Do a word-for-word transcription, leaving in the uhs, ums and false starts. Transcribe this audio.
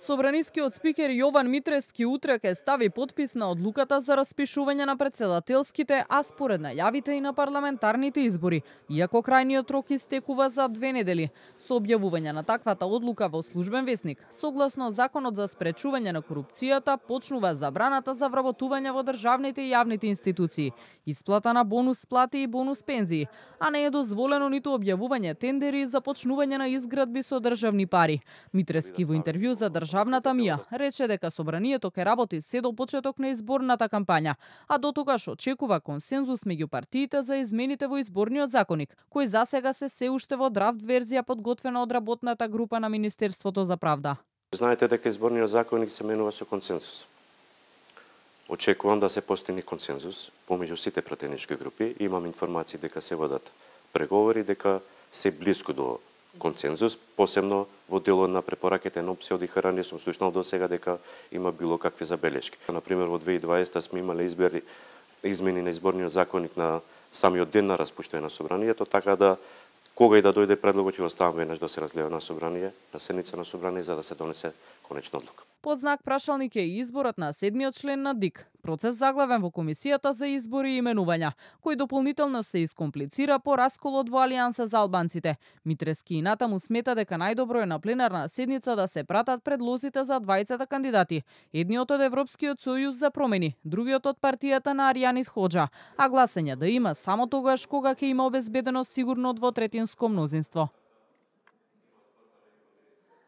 Собранискиот спикер Јован Митрески утре ќе стави подпис на одлуката за распишување на претседателските, а според најавите и на парламентарните избори, иако крајниот рок истекува за две недели. Со објавување на таквата одлука во Службен весник, согласно Законот за спречување на корупцијата, почнува забраната за вработување во државните и јавните институции, исплата на бонус плати и бонус пензии, а не е дозволено ниту објавување тендери и започнување на изградби со државни пари. Митрески во интервју за Државната мија рече дека собранието ќе работи се до почеток на изборната кампања, а до тогаш очекува консензус меѓу партиите за измените во изборниот законник, кој засега се се уште во драфт верзија подготвена од работната група на Министерството за правда. Знаете дека изборниот законник се менува со консензус. Очекувам да се постигне консензус помеѓу сите пратенички групи. Имам информации дека се водат преговори, дека се блиску до консензус, посебно во делот на препораките на опција од ИХР не сум слушнал до сега дека има било какви забелешки. Например, во две илјади и дваесета сме имале избори, измени на изборниот законник на самиот ден на распуштање на собранието, така да кога и да дојде предлогот ќе оставам веднаш да се разгледа на собрание, на седница на собрание за да се донесе конечна одлука. Под знак прашалник е и изборот на седмиот член на ДИК, процес заглавен во Комисијата за избори и именувања, кој дополнително се искомплицира по расколот во Алијанса за албанците. Митрески и натаму смета дека најдобро е на пленарна седница да се пратат предлозите за двајцата кандидати, едниот од Европскиот сојуз за промени, другиот од партијата на Аријанит Хоџа, а гласање да има само тогаш кога ќе има обезбедено сигурно двотретинско мнозинство.